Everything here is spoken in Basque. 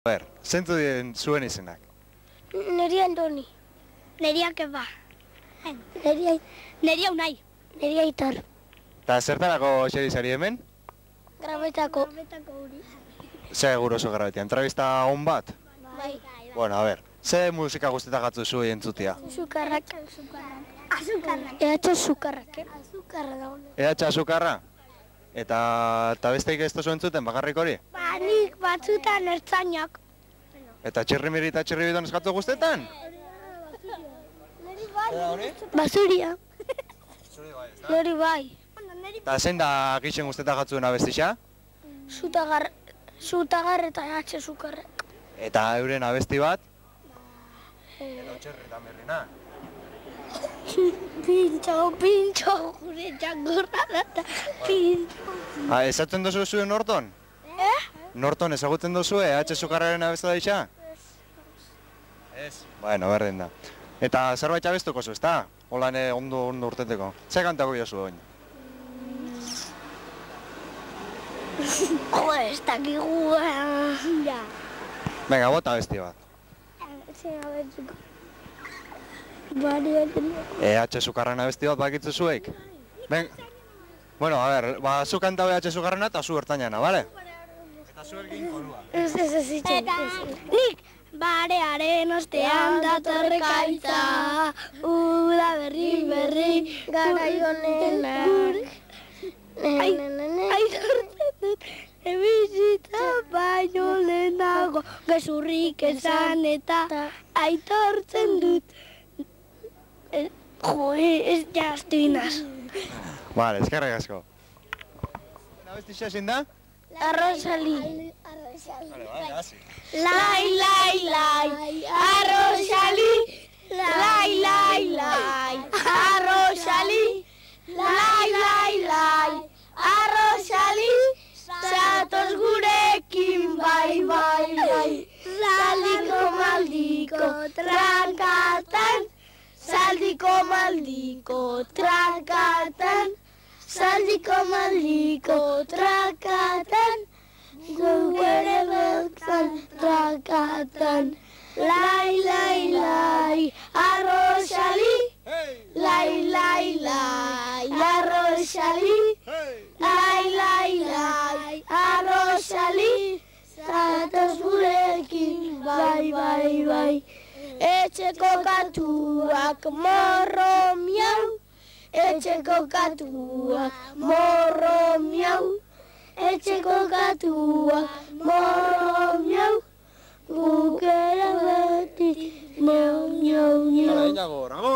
Zeintu dien zuen izenak? Neria Andoni. Neria Keba. Neria Unai. Neria Itar. Eta zertarako xerizari hemen? Grabetako. Segur oso grabetia. Entrevista on bat? Bai. Bueno, a ver. Ze musika guztetak gatzu zuen entzutia? Sukarrak. Ehatxo sukarrak, Azukarra da hona. Ehatxa azukarra? Eta besteik ez tozu entzuten bakarrik hori? Ba, nik batzutan ertzainak. Eta txirrimiri eta txirribidon eskatu guztetan? Basuria. Nori bai. Eta zein da gixen guztetak gatzuen abestixa? Zutagar eta ehatxe sukarrak. Eta euren abesti bat? Edo txerri eta merrina. Pintxo, gure txangorra da, pintxo. Ezatzen dozu zuen Norton? Norton ezagutzen dozu ehatxe sukarraren abesti da ixa? Ez. Bueno, berdin da. Eta zerbait abestuko zu, ezta? Holan ondo urteteko. Ze kantako jozu oin? Jo, ez dakigu. Venga, bota abesti bat. EH Sukarren abesti bat bakitzu zuek? Bueno, a ver, zu kantau EH Sukarrena eta zu ertainana, bale? Eta zu ergin korua. Ez nik barearen ostean datorrekaitza, uda berri, garai honenak. Aitortzen dut, bizitza baino lehenago, gezurrik esan eta aitortzen dut. Ez jaztu inaz. Vale, eskerrik asko. Abesti xasin da? Arrosali. Vale, hasi. Lai, arrosali. Lai, arrosali. Lai, arrosali. Zatoz gurekin, bai. Maldiko, trankatan. Maldiko, trankatan. Gure beltzan, trankatan. Lai, arrosali. Lai, arrosali. Lai, arrosali. Zatoz gurekin, bai. Etxeko katuak morro miau. Etxeko katuak morro miau. Etxeko katuak morro miau. Gukera beti miau. Hala, inago, rago!